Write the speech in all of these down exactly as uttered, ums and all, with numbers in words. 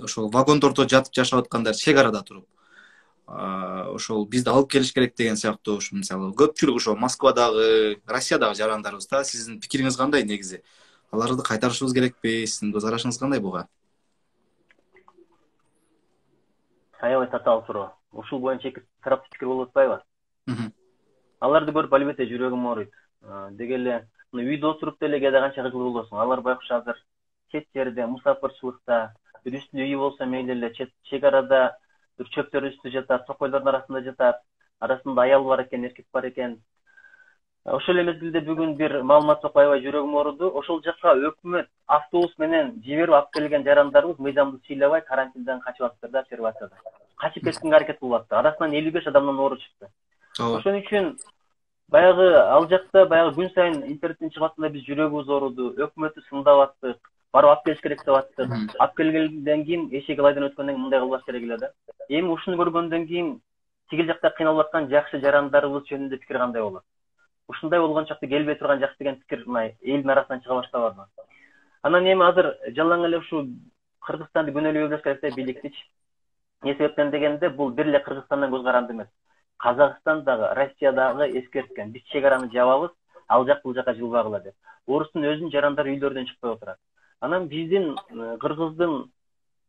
ошол вагондордо жатып жашап аткандар чек арада туруп ошол бизди алып келиш керек деген сыяктуу ушу мисалы көпчүлүк ошол Москвадагы, Россиядагы жарандарыбызда сиздин пикириңиз кандай негизи? Аларды кайтарышыбыз керекпи? Сиздин көз карашыңыз кандай буга? Аябай татаал суроо. Ушул боюнча эки тараптуу пикир болуп атпайбы? Аларды көрүп албетте жүрөгүм ооруйт. Деги эле үйдө отуруп деле кээде канча кыжыл болосуң. Алар байкуш азыр чет жерде, мусафырчылыкта, бир үстү үйү болсо мейли эле чек арада бир чөптөр үстү жатат, токойлордун арасында жатат. Арасында аял бар экен, эркек бар экен. Ошол эле мезгилде бүгүн бир маалымат окуп аябай жүрөгүм ооруду. Ошол жакка өкмөт автобус менен жиберип алып келген жарандарыбыз мыйзамды сыйлабай карантинден качып атыптыр да, обсервацияда. Качып кеткенге аракет кылып атты. Арасынан элүү беш адамдан оору чыкты. Ошон үчүн баягы ал жакта баягы күн сайын интернеттен чыгып атканда биз жүрөгүбүз ооруду. Өкмөттү сындап аттык, барып алып келиш керек деп аттык. Алып келгенден кийин эшек ылайдан өткөндөн кийин мындай кылбаш керек эле да. Эми ушуну көргөндөн кийин тигил жакта кыйналып аткан жакшы жарандарыбыз жөнүндө пикир кандай болот? Ушундай болгон чакта келбей турган жакшы деген пикир мына элдин арасынан чыга баштабадыбы? Анан эми азыр жалаң эле ушу Кыргызстанды күнөөлөй бербеш керек да бийликтичи. Эмне себептен дегенде бул бир эле Кыргызстандан көз каранды эмес. Казакстандагы, Россиядагы эскерткен. Биз чек араны жабабыз, ал жак бул жака жылбагыла деп. Орустун өзүнүн жарандары үйлөрдөн чыкпай отурат. Анан биздин Кыргыздын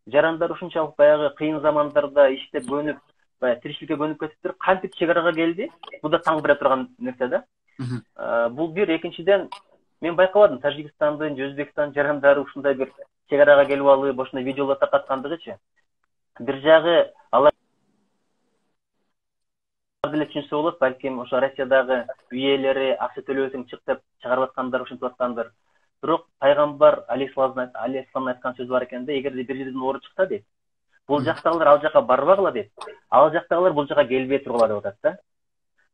жарандары ушунчалык баягы кыйын замандарда иштеп көнүп, баягы тиричиликке көнүп кетиптир. Кантип чек арага келди? Бул да таң бере турган нерсе да. Бул бир, экинчиден мен байкабадым Тажикстандын, Өзбекстандын жарандары ушундай бир чек арага келип алып, ошондой видеолор таркаткандыгычы. Бир жагы алар деле түшүнсө болот, балким ошо Россиядагы үй ээлери акча төлөбөсөң чык деп чыгарып аткандар, ушинтип аткандар. Бирок пайгамбар алейхиссалам айткан сөз бар экен да, эгерде бир жерден оору чыкса дейт, бул жактагылар ал жака барбагыла дейт. Ал жактагылар бул жака келбей тургула деп атат да.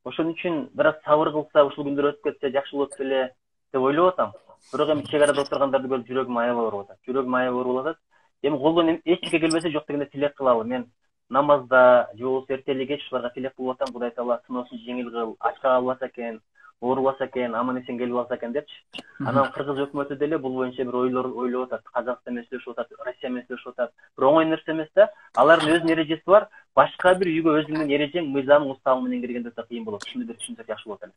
Ошон үчүн бир аз сабыр кылса, ушул күндөр өтүп кетсе жакшы болот беле деп ойлоп атам. Бирок эми чек арада отургандарды көрүп жүрөгүм аябай ооруп атат. Жүрөгүм аябай ооруп атат. Эми колдон эч нерсе келбесе жок дегенде тилек кылалы. Мен намазда, же болбосо эртелик кеч ушуларга тилек кылып атам. Кудай таала сыноосун жеңил кыл, ач калбаса экен, оорубаса экен, аман эсен келип алса экен депчи. Анан Кыргыз өкмөтү деле бул боюнча бир ойлор ойлоп атат. Казакстан менен сүйлөшүп атат, Россия менен сүйлөшүп атат. Бир оңой нерсе эмес да. Алардын өзүнүн эрежеси бар. Башка бир үйгө өзүңдүн эрежең, мыйзамың, уставың менен киргенде да кыйын болот. Ушуну бир түшүнсөк жакшы болот эле.